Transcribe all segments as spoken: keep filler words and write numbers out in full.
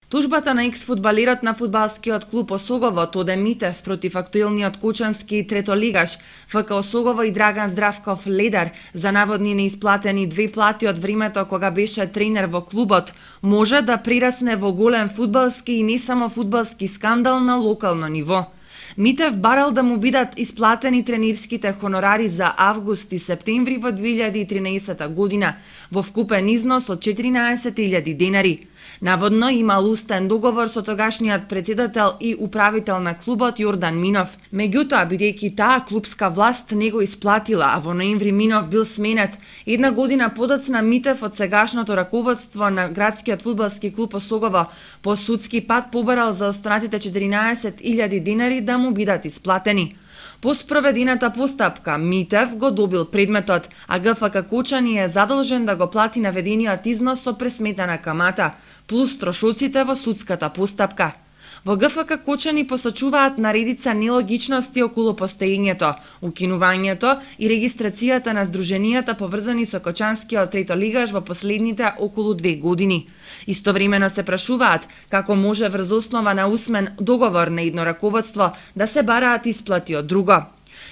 Тужбата на екс-фудбалерот на фудбалскиот клуб Осогово Тоде Митев против актуелниот кучански третолигаш ФК Осогово и Драган Здравков Ледар за наводни неисплатени две плати од времето кога беше тренер во клубот може да прирасне во голем фудбалски и не само фудбалски скандал на локално ниво. Митев барал да му бидат исплатени тренерските хонорари за август и септември во две илјади и тринаесета година во вкупен износ од четиринаесет илјади денари. Наводно имал устен договор со тогашниот председател и управител на клубот Јордан Минов. Меѓутоа, бидејќи таа клубска власт не го исплатила, а во ноември Минов бил сменет, една година подоцна Митев од сегашното раководство на градскиот фудбалски клуб Осогово по судски пат побарал за останатите четиринаесет илјади денари да му бидат исплатени. По спроведената постапка, Митев го добил предметот, а ГФК Кочани е задолжен да го плати наведениот износ со пресметана камата, плюс трошоците во судската постапка. Во ГФК Кочани посочуваат наредица нелогичности околу постоењето, укинувањето и регистрацијата на здруженијата поврзани со кочанскиот третолигаш во последните околу две години. Истовремено се прашуваат како може врз основа на усмен договор на едно раководство да се бараат исплати од друго.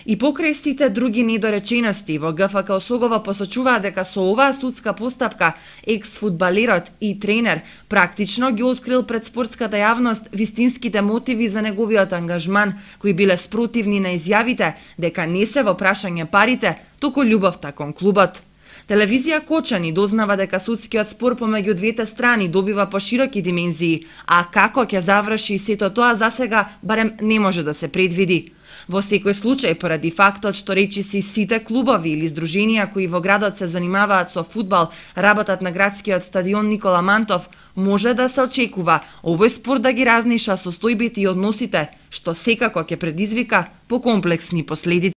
И покрај сите други недоречености, во ГФК Осогово посочуваат дека со оваа судска постапка екс-фудбалерот и тренер практично ги открил пред спортската јавност вистинските мотиви за неговиот ангажман, кои биле спротивни на изјавите дека не се во прашање парите, туку љубовта кон клубот. Телевизија Кочани дознава дека судскиот спор помеѓу двете страни добива пошироки димензии, а како ќе заврши сето тоа засега барем не може да се предвиди. Во секој случај, поради фактот што речиси сите клубови или здруженија кои во градот се занимаваат со фудбал работат на градскиот стадион Никола Мантов, може да се очекува овој спор да ги разниша состојбите и односите, што секако ќе предизвика покомплексни последици.